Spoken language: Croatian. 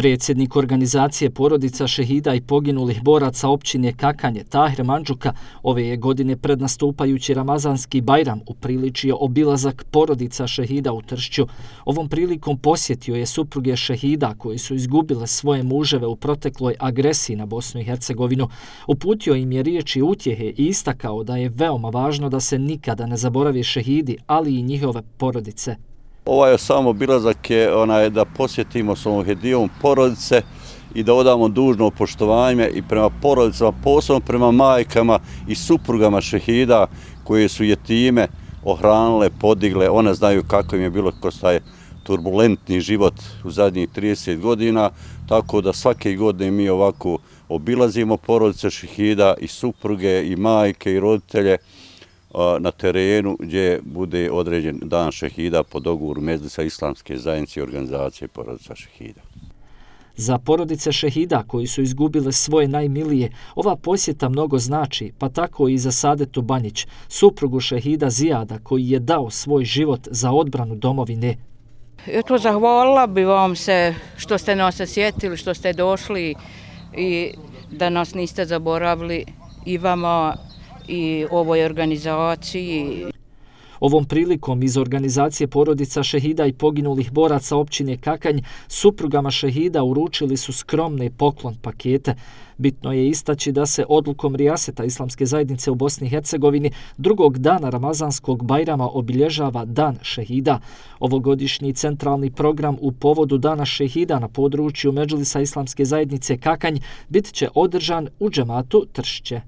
Predsjednik organizacije porodica šehida i poginulih boraca općine Kakanje, Tahir Mandžuka, ove je godine pred nastupajući Ramazanski Bajram upriličio obilazak porodica šehida u Tršću. Ovom prilikom posjetio je supruge šehida koji su izgubile svoje muževe u protekloj agresiji na Bosnu i Hercegovinu. Uputio im je riječi utjehe i istakao da je veoma važno da se nikada ne zaboravi šehidi, ali i njihove porodice. Ovaj samo obilazak je da posjetimo s ovom hedijom porodice i da odamo dužno poštovanje i prema porodicama, posebno prema majkama i suprugama šehida koje su jetime ohranile, podigle. One znaju kako im je bilo kroz taj turbulentni život u zadnjih 30 godina, tako da svake godine mi ovako obilazimo porodice šehida i supruge i majke i roditelje na terenu gdje bude određen dan šehida po dogovoru Medžlisa Islamske zajednice i organizacije porodica šehida. Za porodice šehida koji su izgubile svoje najmilije, ova posjeta mnogo znači, pa tako i za Sadetu Banjić, suprugu šehida Zijada koji je dao svoj život za odbranu domovine. Eto, zahvalila bi vam se što ste nas sjetili, što ste došli i da nas niste zaboravili i vama i ovoj organizaciji. Ovom prilikom iz organizacije porodica šehida i poginulih boraca općine Kakanj suprugama šehida uručili su skromne poklon pakete. Bitno je istaći da se odlukom Rijaseta Islamske zajednice u Bosni i Hercegovini drugog dana Ramazanskog Bajrama obilježava Dan šehida. Ovogodišnji centralni program u povodu Dana šehida na području Medžlisa Islamske zajednice Kakanj bit će održan u džematu Tršće.